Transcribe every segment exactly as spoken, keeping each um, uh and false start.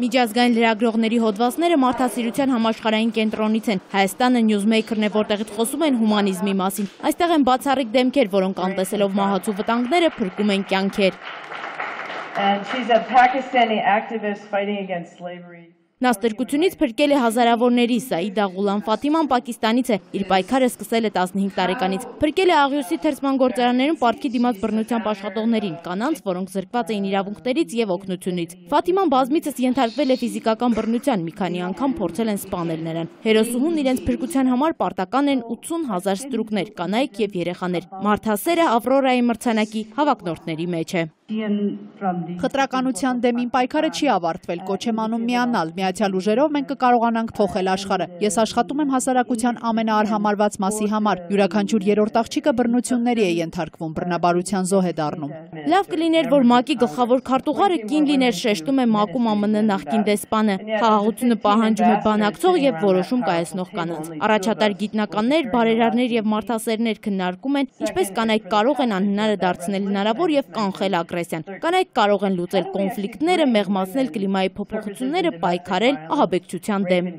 Միջազգային լրագրողների հոդվածները մարդասիրության համաշխարհային կենտրոնից են։ Հայաստանը Newsmaker-ն է, որտեղից խոսում են հումանիզմի մասին։ Այստեղ են բացառիկ դեմքեր, որոնք անտեսելով մահացու վտանգները փրկում են կյանքեր։ Նա ստրկությունից փրկել է հազարավորների, Սաիդա Ղուլամ Ֆաթիման Պակիստանից է, իր պայքարը սկսել է տասնհինգ տարեկանից։ Փրկել է աղյուսի թերծման գործարաններում պարտքի դիմաց բռնությամբ աշխատողներին, կանանց, որոնք զրկված էին իրավունքներից եւ օգնությունից։ Ֆաթիման բազմիցս ենթարկվել է ֆիզիկական բռնության, մի քանի անգամ փորձել են սպանել նրան։ Հերոսուհուն իրենց փրկության համար պարտական են ութսուն հազար ստրուկներ, կանայք եւ երեխաներ։ Մարդասերը Ավրորայի մրցանակի հավակնորդների մեջ է։ Խտրականության դեմին պայքարը չի ավարտվել, կոչ եմ անում միանալ, միացյալ ուժերով մենք կկարողանանք փոխել աշխարհը։ Ես աշխատում եմ հասարակության ամենաարհամարված մասի համար, յուրաքանչյուր երրորդ աղջիկը բռնությունների է ենթարկվում, բռնաբարության զոհ է դառնում։ Լավ կլիներ, որ ՄԱԿ-ի գլխավոր քարտուղարը կին լիներ, շեշտում է ՄԱԿ-ում ԱՄՆ նախկին դեսպանը։ Խաղաղությունը պահանջում է բանակցող եւ որոշում կայացնող կանանց։ Առաջատար գիտնականներ, բարերարներ եւ մարդասերներ քննարկում են, ինչպես կանայք կարող են անհնարը դարձնել հնարավոր եւ կանխել ագրեսիան։ Կանայք կարող են լուծել կոնֆլիկտները, մեղմացնել կլիմայի փոփոխությունները, պայքարել ահաբեկչության դեմ։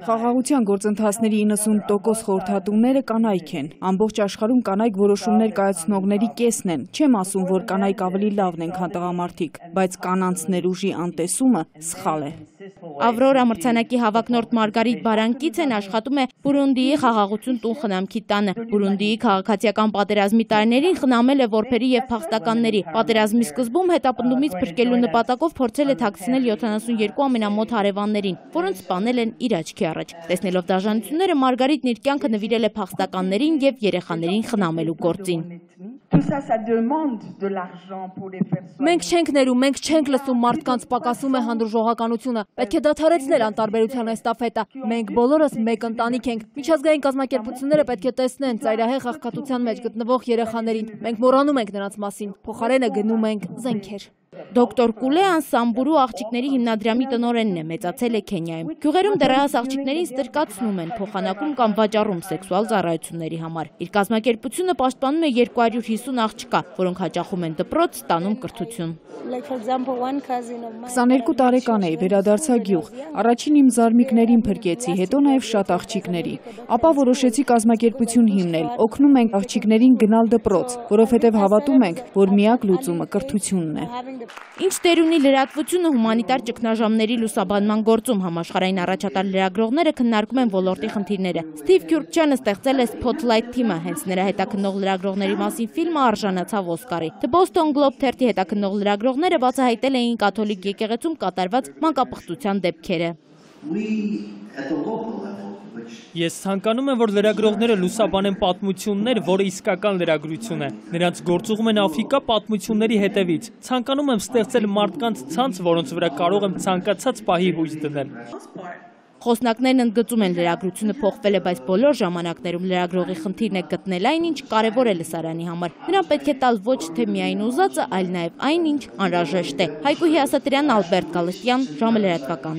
Խաղաղության գործընթացների իննսուն տոկոս խորհրդատուները կանայք են։ Ամբողջ աշխարհում կանայք որոշումներ կայացնողների կեսն են։ Չեմ ասում, որ կանայք ավելի լավն են, քան տղամարդիկ, բայց կանանց ներուժի անտեսումը սխալ է։ Ավրորա մրցանակի հավակնորդ Մարգարիտ Բարանկիցեն աշխատում է Բուրունդիի խաղաղություն տուն խնամքի տանը։ Բուրունդիի քաղաքացիական պատերազմի տարիներին խնամել է որբերի եւ փախստականների։ Պատերազմի սկզբում հետապնդումից փրկելու նպատակով փորձել է թաքցնել յոթանասունյոթ ամենամոտ հարևաններին, որոնց սպանել են իր աչքի առաջ։ Տեսնելով դաժանությունները, Մարգարիտն իր կյանքը նվիրել է փախստականներին եւ երեխաներին խնամելու գործին։ Մենք չենք ներում, մենք չենք լսում, մարդկանց պակասում է հանդուրժողականությունը։ Պետք է դադարեցնել անտարբերության էստաֆետը։ Մենք բոլորս մեկ ընտանիք ենք։ Միջազգային կազմակերպությունները պետք է տեսնեն ծայրահեղ աղքատության մեջ գտնվող երեխաներին։ Մենք մոռանում ենք նրանց մասին, փոխարենը գնում ենք զենքեր։ Դոկտոր Կուլեան Սամբուրու աղջիկների հիմնադրամի տնօրենն է, մեծացել է Քենիայում։ Գյուղերում դեռահաս աղջիկներին ստրկացնում են, փոխանակում կամ վաճառում սեքսուալ ծառայությունների համար։ Իր կազմակերպությունը պաշտպանում է երկու հարյուր հիսուն աղջկա, որոնք հաճախում են դպրոց, ստանում կրթություն։ քսաներկու տարեկան էի, վերադարձա գյուղ։ Առաջին իմ զարմիկներին փրկեցի, հետո նաև շատ աղջիկների։ Ապա որոշեցի կազմակերպություն հիմնել, օգնում ենք աղջիկներին գնալ դպրոց, որովհետև հավատում ենք, որ միակ լուծումը կրթությունն է։ Ինչ դեր ունի լրատվությունը հումանիտար ճգնաժամերի լուսաբանման գործում, համաշխարհային առաջատար լրագրողները քննարկում են ոլորտի խնդիրները։ Սթիվ Քյուրքչյանը ստեղծել է Spotlight թիմը, հենց նրա հետաքննող լրագրողների մասին ֆիլմը արժանացավ Օսկարի։ The Boston Globe թերթի հետաքննող լրագրողները բացահայտել էին կաթոլիկ եկեղեցում կատարված մանկապղծության դեպքերը։ Ես ցանկանում եմ, որ լրագրողները լուսաբանեն պատմություններ, որը իսկական լրագրություն է։ Նրանց գործուղում են Աֆրիկա պատմությունների հետևից։ Ցանկանում եմ ստեղծել մարդկանց ցանց, որոնց վրա կարող եմ ցանկացած պահի հույս դնել։ Խոսնակներն ընդգծում են լրագրությունը փոխվել է, բայց բոլոր ժամանակներում լրագրողի խնդիրն է գտնել այն, ինչ կարևոր է լսարանի համար։ Նրան պետք է տալ ոչ թե միայն ուզածը, այլ նաև այն, ինչ անհրաժեշտ է։ Հայկու Հիասատրյան, Ալբերտ Գալստյան, ժամը լրատվական։